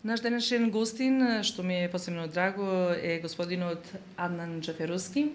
Наш денешен гостин, што ми е посебно драго, е господинот Аднан Джаферовски,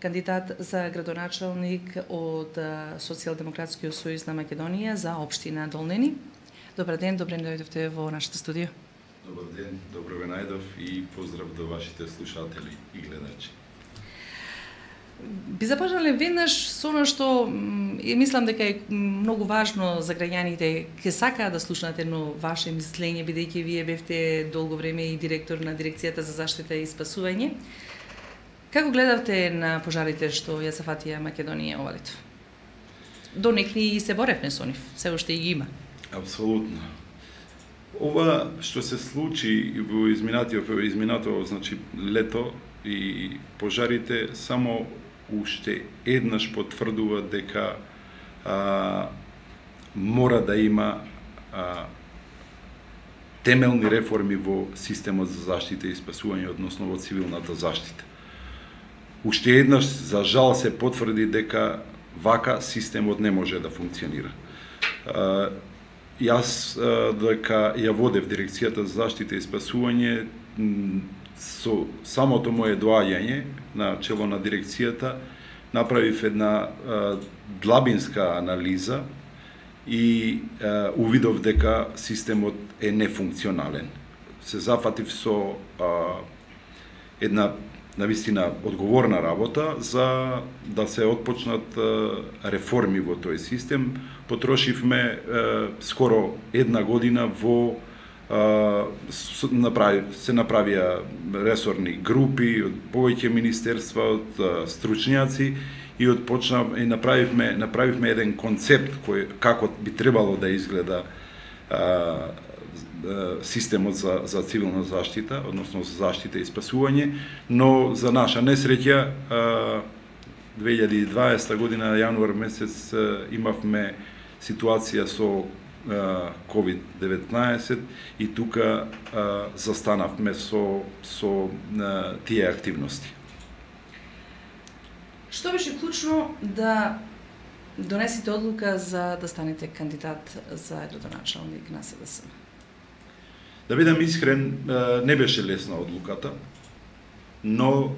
кандидат за градоначалник од Социјалдемократскиот сојуз на Македонија за општина Долнени. Добар ден, добре дојдовте во нашето студио. Добар ден, добро ве најдов и поздрав до вашите слушатели и гледачи. Би започнале веднаш со она што мислам дека е многу важно за граѓаните, ке сакаат да слушнат едно ваше мислење, бидејќи вие бевте долго време и директор на Дирекцијата за заштита и спасување. Како гледавте на пожарите што ја зафатија Македонија ова лето? До некни и се боревме со нив, се уште и ги има. Апсолутно. Ова што се случи во изминато значи лето и пожарите само уште еднаш потврдува дека мора да има темелни реформи во системот за заштита и спасување, односно во цивилната заштита. Уште еднаш, за жал, се потврди дека вака системот не може да функционира. Јас дека ја водев Дирекцијата за заштита и спасување, со самото мое доаѓање на чело на дирекцијата направив една длабинска анализа и увидов дека системот е нефункционален. Се зафатив со една навистина одговорна работа за да се отпочнат реформи во тој систем. Потрошивме скоро една година во се направија ресорни групи од повеќе министерства, од стручњаци и направивме еден концепт кој како би требало да изгледа системот за цивилна заштита, односно за заштита и спасување, но за наша несреќа 2020 година јануар месец имавме ситуација со COVID-19 и тука застанавме со тие активности. Што беше клучно да донесете одлука за да станете кандидат за градоначалник на СДСМ? Да бидам искрен, не беше лесна одлуката, но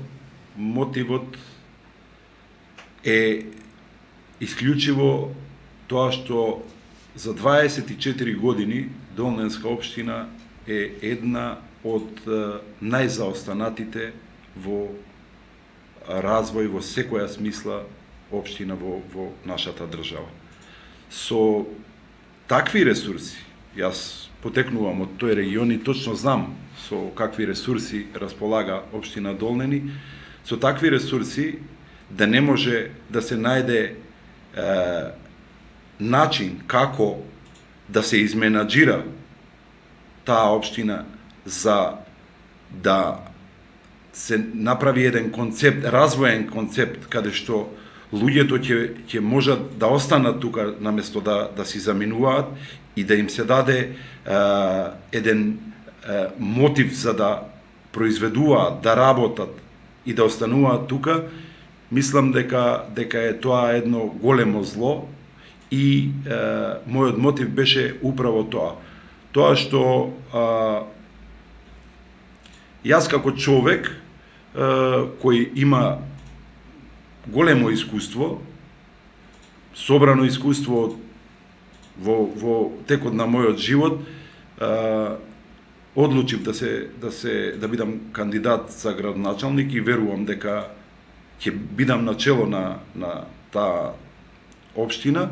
мотивот е исклучиво тоа што за 24 години Долненска општина е една од најзаостанатите во развој во секоја смисла општина во нашата држава. Со такви ресурси, јас потекнувам од тој регион и точно знам со какви ресурси располага општина Долнени, со такви ресурси да не може да се најде начин како да се изменаџира таа општина за да се направи еден концепт, развоен концепт, каде што луѓето ќе можат да останат тука наместо да си заминуваат и да им се даде еден мотив за да произведуваат, да работат и да остануваат тука. Мислам дека е тоа едно големо зло и мојот мотив беше управо тоа. Тоа што јас како човек кој има големо искуство, собрано искуство во текот на мојот живот, одлучив да бидам кандидат за градоначалник и верувам дека ќе бидам на чело на таа општина,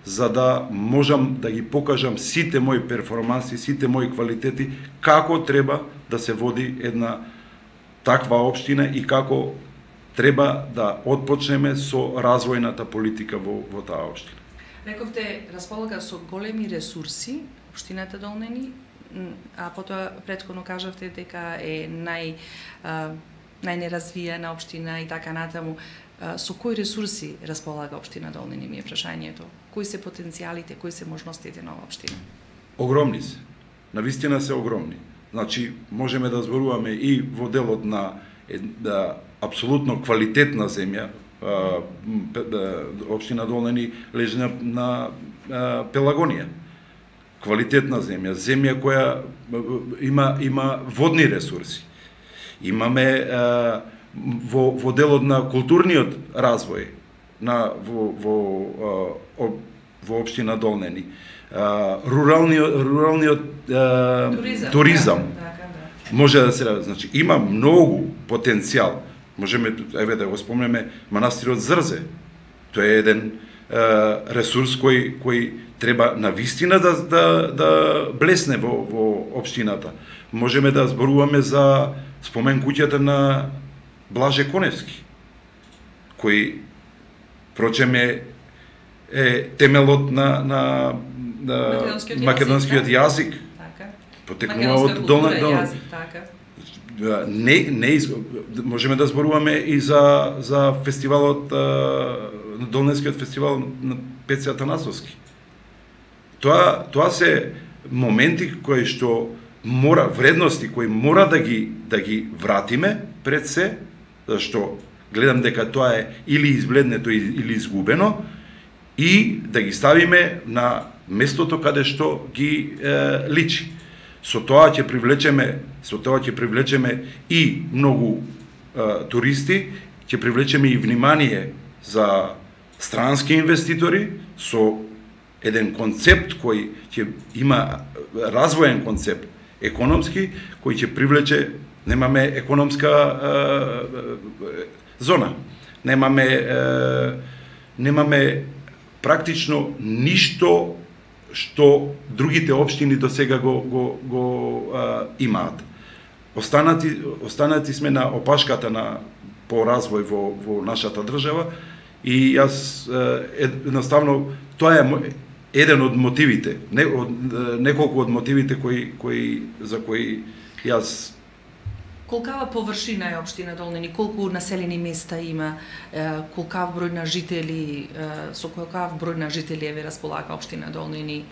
за да можам да ги покажам сите мои перформанси, сите мои квалитети, како треба да се води една таква општина и како треба да отпочнеме со развојната политика во таа општина. Рековте, располага со големи ресурси општината Долнени, а потоа претходно кажавте дека е најнеразвиена општина и така натаму. Со кои ресурси располага општина Долнени, ми е прашањето? Кои се потенцијалите, кои се можностите на оваа општина? Огромни се. Навистина се огромни. Значи, можеме да зборуваме и во делот на апсолутно квалитетна земја. Општина Долнени лежи на Пелагонија. квалитетна земја која има водни ресурси. Имаме во делот на културниот развој во општина Долнени, руралниот туризам. Може да се ради, значи има многу потенцијал. Можеме да го спомнеме манастирот Зрзе. Тој е еден ресурс кој треба навистина да блесне во општината. Можеме да зборуваме за спомен куќата на Блаже Коневски, кој прочем е темелот на македонскиот јазик. Потекнува од Долна. Можеме да зборуваме и за фестивалот, Долненскиот фестивал на Пеце Атанасовски. Тоа се моменти кои што вредности кои мора да ги вратиме пред се, зашто гледам дека тоа е или избледнето или изгубено, и да ги ставиме на местото каде што ги личи. Со тоа ќе привлечеме и многу туристи, ќе привлечеме и внимание за странски инвеститори со еден концепт кој ќе има развоен концепт економски, кој ќе привлече, немаме економска зона, немаме практично ништо што другите општини до сега го имаат. Останати сме на опашката по развој во нашата држава, и јас едноставно тоа е еден од мотивите, неколку од мотивите за кои јас. Колкава површина е општина Долнени, колку населени места има, колкав број на жители, со колкав број на жители еве располага општина Долнени,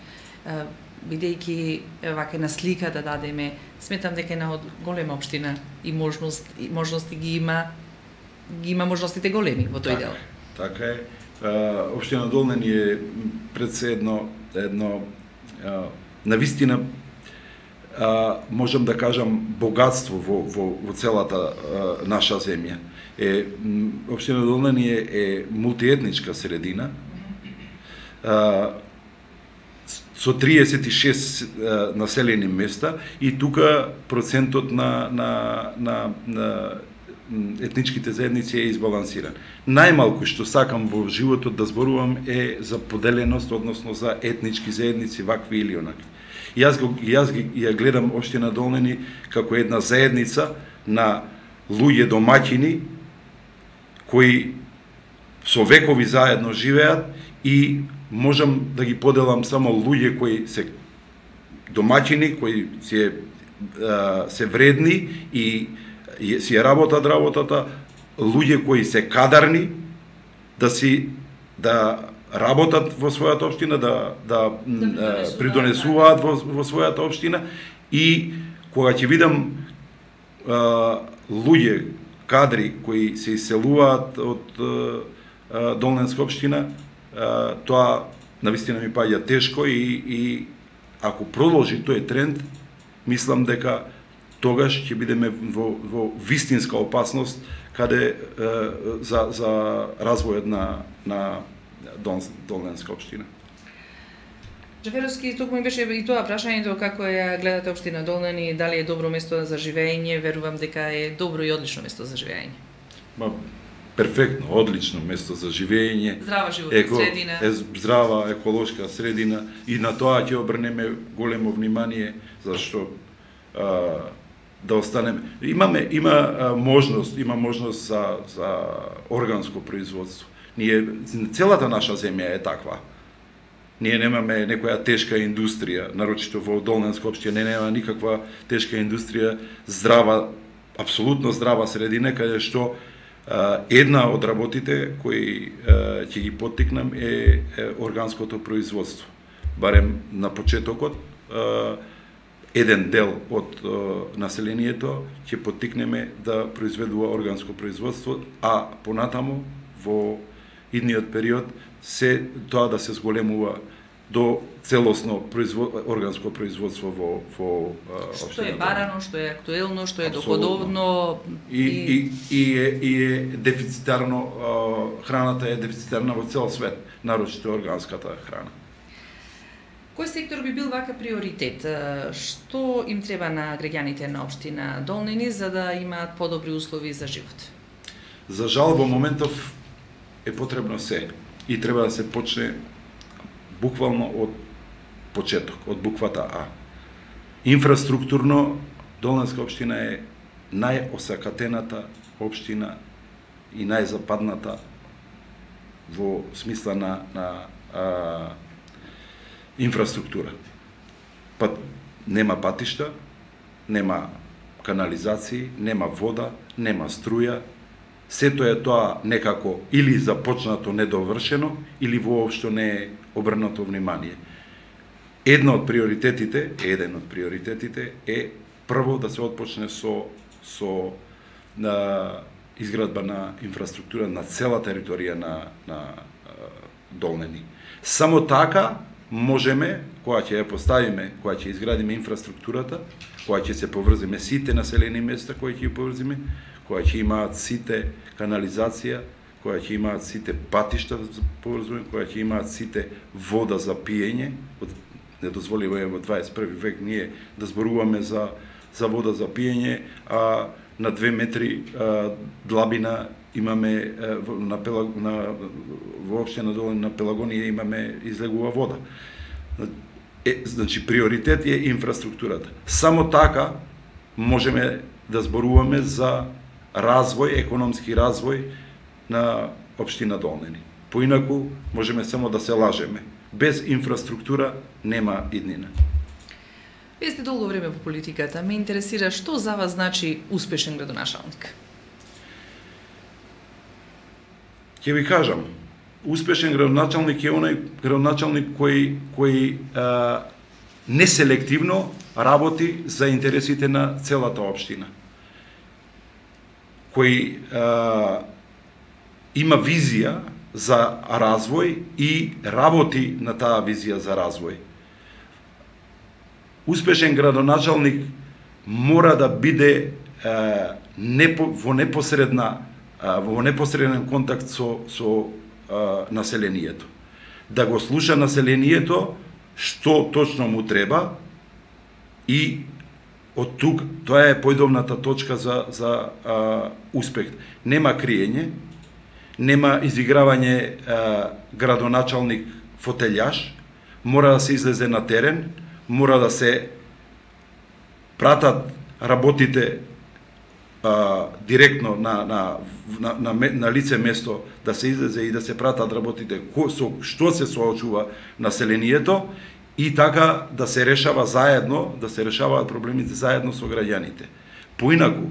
бидејќи вака на слика да дадеме, сметам дека е една од голема општина и можности ги има можностите големи во тој дел. Така е. Општина Долнени е пред се едно навистина, можам да кажам, богатство во целата наша земја. Општина Долнени е мултиетничка средина, со 36 населени места, и тука процентот на етничките заедници е избалансиран. Најмалку што сакам во животот да зборувам е за поделеност, односно за етнички заедници вакви или онакви. Јас ја гледам општина Долнени како една заедница на луѓе домаќини кои со векови заедно живеат, и можам да ги поделам само луѓе кои се домаќини, кои се вредни и си работат работата, луѓе кои се кадарни да работат во својата општина, да придонесуваат во својата општина, и кога ќе видам луѓе, кадри кои се иселуваат од Долненска општина, тоа навистина ми паѓа тешко, и ако продолжи тој тренд, мислам дека тогаш ќе бидеме во вистинска опасност каде за развојот на Долненска општина. Джаферовски, туку ми беше и тоа прашањето како ја гледате општина Долнени, дали е добро место за живење? Верувам дека е добро и одлично место за живење. Перфектно, одлично место за живење. Здрава животна средина. Здрава еколошка средина, и на тоа ќе обрнеме големо внимание, зашто да останеме. Има можност за органско производство. Целата наша земја е таква. Ние немаме некоја тешка индустрија, нарочито во Долненска општина нема никаква тешка индустрија, здрава, апсолутно здрава средина, каде што една од работите кои ќе ги поттикнам е органското производство. Барем на почетокот, еден дел од населението ќе поттикнеме да произведува органско производство, а понатаму во идниот период тоа да се зголемува до целосно органско производство во што е барано, што е актуелно, што е доходовно и е дефицитарно, храната е дефицитарна во цел свет, нарочито органската храна. Кој сектор би бил вака приоритет? Што им треба на граѓаните на општина Долнини за да имаат подобри услови за живот? За жал во моментов е потребно се и треба да се почне буквално од почеток, од буквата А. Инфраструктурно Долнинска општина е најосакатената општина и најзападната во смисла на инфраструктура. Нема патишта, нема канализации, нема вода, нема струја. Сето е тоа некако или започнато недовршено, или воопшто не е обрнато внимание. Еден од приоритетите е прво да се отпочне со изградба на инфраструктура на цела територија на Долнини. Само така можеме, кога ќе ја поставиме, кога ќе изградиме инфраструктурата, кога ќе се поврзиме сите населени места, кои ќе ја поврзиме, кога ќе имаат сите канализација, кога ќе имаат сите патишта за поврзување, кога ќе имаат сите вода за пиење. Недозволиво е во 21 век ние да зборуваме за вода за пиење, а на 2 метри длабина имаме во општина Долнини на Пелагонија имаме излегува вода. Значи приоритет е инфраструктурата. Само така можеме да зборуваме за развој, економски развој на општина Долнини. Поинаку можеме само да се лажеме. Без инфраструктура нема иднина. Вие сте долго време во политиката. Ме интересира што за вас значи успешен градоначалник? Ќе ви кажам, успешен градоначалник е оној градоначалник кој неселективно работи за интересите на целата општина. Кој има визија за развој и работи на таа визија за развој. Успешен градоначалник мора да биде во непосреден контакт со населението. Да го слуша населението што точно му треба и од тук тоа е појдовната точка за успех. Нема криење, нема изигравање градоначалник фотелјаш, мора да се излезе на терен, мора да се пратат работите директно на лице место, да се излезе и да се пратат работите со што се соочува населението и така да се решава заедно, да се решаваат проблемите заедно со граѓаните. Поинаку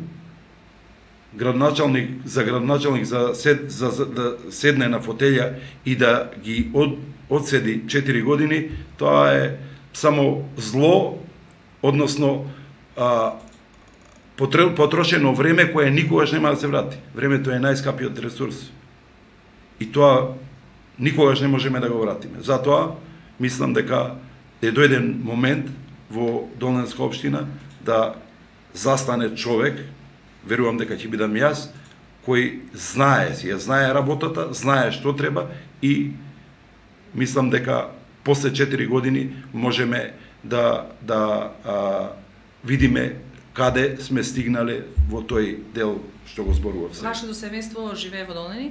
градоначалник за да седне на фотелја и да ги одседи 4 години, тоа е само зло, односно потрошено време кое никогаш нема да се врати. Времето е најскапиот ресурс. И тоа никогаш не можеме да го вратиме. Затоа мислам дека е дојден момент во Долнинска општина да застане човек, верувам дека ќе бидам јас, кој знае работата, знае што треба и мислам дека после 4 години можеме да видиме каде сме стигнале во тој дел што го зборував. Вашето семејство живее во Долнини?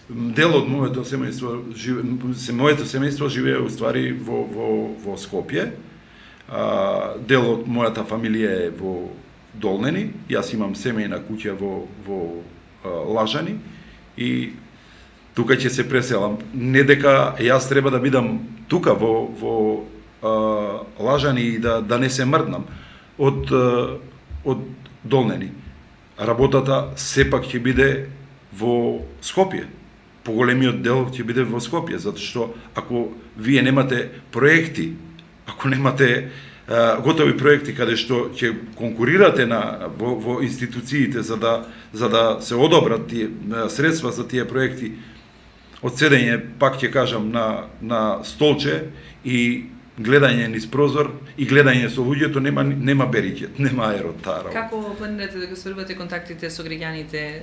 Дел од моето семејство живее уствари во Скопје. Дел од мојата фамилија е во Долнини. Јас имам семејна куќа во Лажани и тука ќе се преселам. Не дека јас треба да бидам тука во Лажани и да не се мрднам од Долнини. Работата сепак ќе биде во Скопје. Поголемиот дел ќе биде во Скопје, затоа што ако вие немате проекти, ако немате готови проекти каде што ќе конкурирате во институциите за да се одобрат тие средства за тие проекти, од седење, пак ќе кажам, на столче и гледање низ прозор и гледање со луѓето, нема бериќет, нема аерот таа работа. Како планирате да го сврбате контактите со граѓаните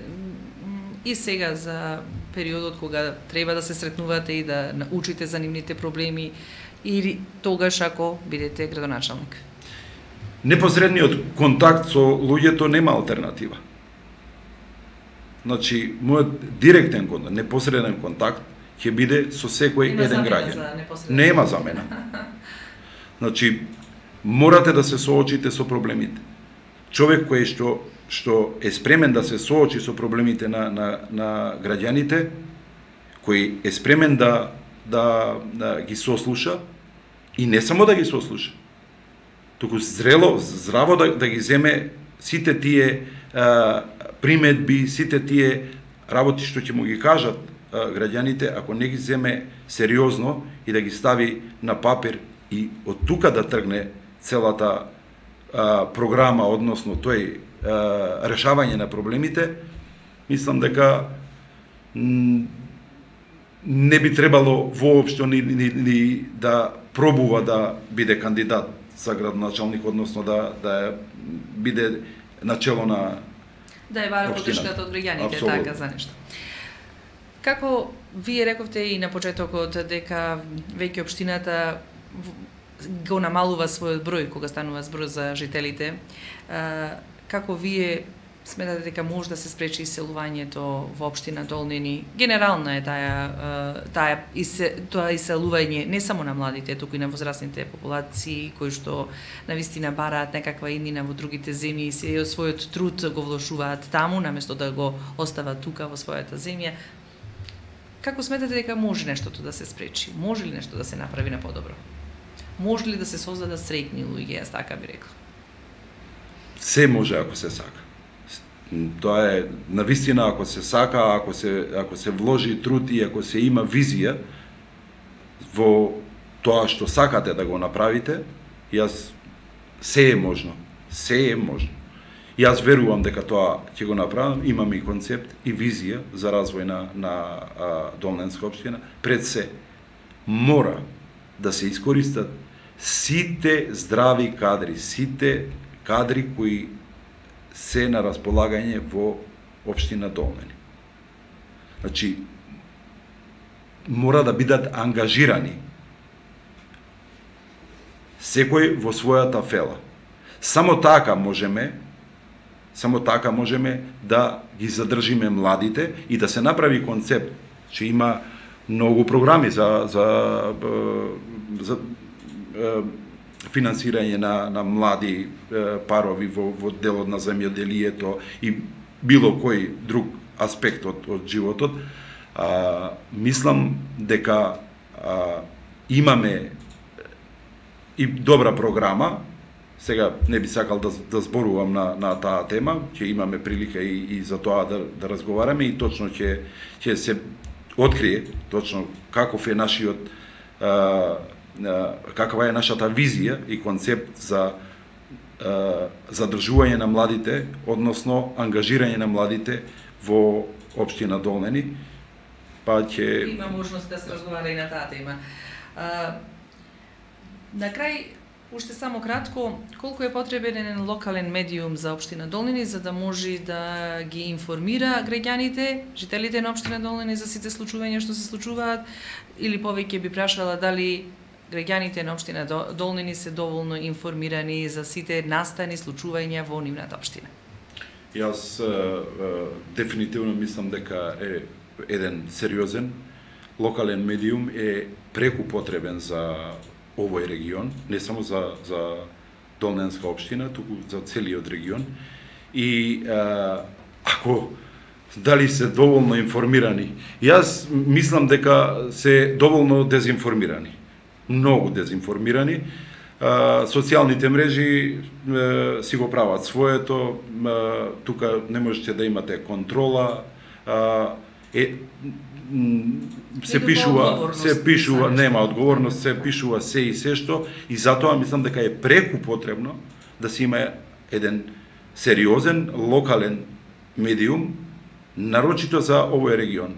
и сега за периодот кога треба да се сретнувате и да научите за нивните проблеми или тогаш ако бидете градоначалник? Непосредниот контакт со луѓето нема алтернатива. Значи, мојот директен контакт, непосреден контакт ќе биде со секој еден граѓанин. Нема замена. Значи, морате да се соочите со проблемите. Човек кој што е спремен да се соочи со проблемите на граѓаните, кој е спремен да ги сослуша и не само да ги сослуша, туку здраво да ги земе сите тие приметби, сите тие работи што ќе му ги кажат граѓаните, ако не ги земе сериозно и да ги стави на папир и од тука да тргне целата програма, односно тој решавање на проблемите, мислам дека не би требало воопшто ни да пробува да биде кандидат за градоначалник, односно да биде начело на да е бара поддршката од граѓаните, така за нешто. Како вие рековте и на почетокот дека веќе општината го намалува својот број кога станува збор за жителите, како вие сметате дека може да се спречи иселувањето во општина Долнини? Генерална е тоа иселување не само на младите, туку и на возрастните популации кои што навистина бараат некаква иднина во другите земји и својот труд го вложуваат таму наместо да го остават тука во својата земја. Како сметате дека може нештото да се спречи? Може ли нешто да се направи на подобро? Може ли да се создадат среќни луѓе, јас така би рекла? Се може ако се сака. Тоа е навистина ако се сака, ако се вложи труд и ако се има визија во тоа што сакате да го направите, се е можно. Се е можно. Јас верувам дека тоа ќе го направам, имам и концепт и визија за развој на Долненска општина. Пред се мора да се искористат сите здрави кадри, сите кадри кои се на располагање во општина Долнени. Значи, мора да бидат ангажирани секој во својата фела. Само така можеме да ги задржиме младите и да се направи концепт, че има многу програми за финансирање на млади парови во делот на земјоделието и било кој друг аспект од животот. Мислам дека имаме и добра програма. Сега не би сакал да зборувам на таа тема, ќе имаме прилика и за тоа да разговараме и точно ќе се открие точно каков е нашиот каква е нашата визија и концепт за задржување на младите, односно ангажирање на младите во општина Долнени, па ќе има можност да се разговара и на таа тема. На крај, уште само кратко, колку е потребен еден локален медиум за општина Долнени за да може да ги информира граѓаните, жителите на општина Долнени за сите случувања што се случуваат, или повеќе би прашала дали граѓаните на општина Долнени се доволно информирани за сите настани случувања во нивната општина? Јас дефинитивно мислам дека е еден сериозен локален медиум е преку потребен за овој регион, не само за Долненска општина, туку за целиот регион. И ако дали се доволно информирани, јас мислам дека се доволно дезинформирани. Многу дезинформирани. Социјалните мрежи си го прават своето, тука не можете да имате контрола, се пишува, нема одговорност, се пишува се и се што, и затоа мислам дека е преку потребно да се има еден сериозен локален медиум, нарочито за овој регион.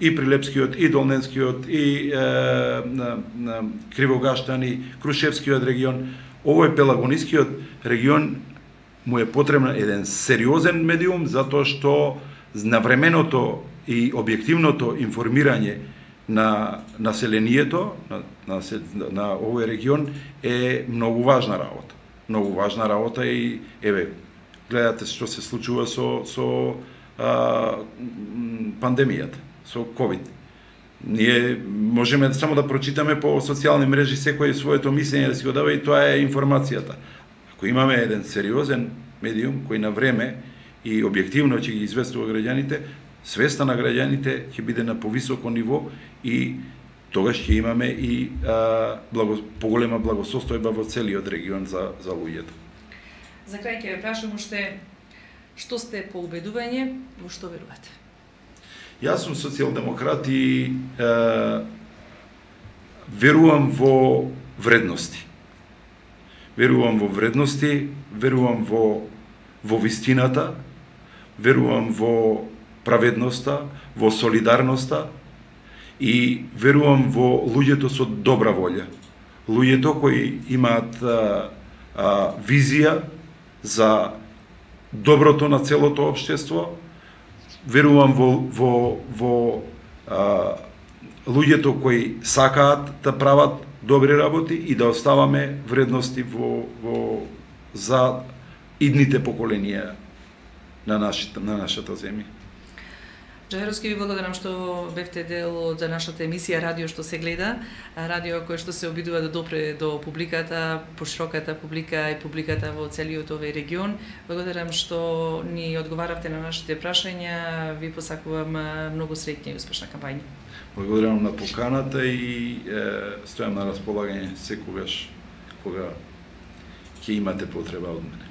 и Прилепскиот, и Долненскиот, и на Кривогаштан, и Крушевскиот регион. Овој Пелагонискиот регион му е потребен еден сериозен медиум, затоа што навременото и објективното информирање на населението на овој регион е многу важна работа. Многу важна работа и гледате што се случува со пандемијата, со ковид. Ние можеме само да прочитаме по социјални мрежи секој своето мислење да си го дава и тоа е информацијата. Ако имаме еден сериозен медиум кој на време и објективно ќе ги известува граѓаните, свеста на граѓаните ќе биде на повисоко ниво и тогаш ќе имаме и поголема благосостојба во целиот регион за луѓето. За крај ќе ве прашам уште, што сте по убедување, во што верувате? Јас сум социјалдемократ и верувам во вредности. Верувам во вредности, верувам во вистината, верувам во праведноста, во солидарноста и верувам во луѓето со добра волја. Луѓето кои имаат визија за доброто на целото општество. Верувам во луѓето кои сакаат да прават добри работи и да оставаме вредности за идните поколенија на нашата земја. Джајровски, ви благодарам што бевте дел од нашата емисија Радио што се гледа, радио кој што се обидува да допре до публиката, пошироката публика и публиката во целиот овој регион. Благодарам што ни одговаравте на нашите прашања. Ви посакувам многу среќна и успешна кампања. Благодарам на поканата и стојам на располагање секогаш кога ќе имате потреба од мене.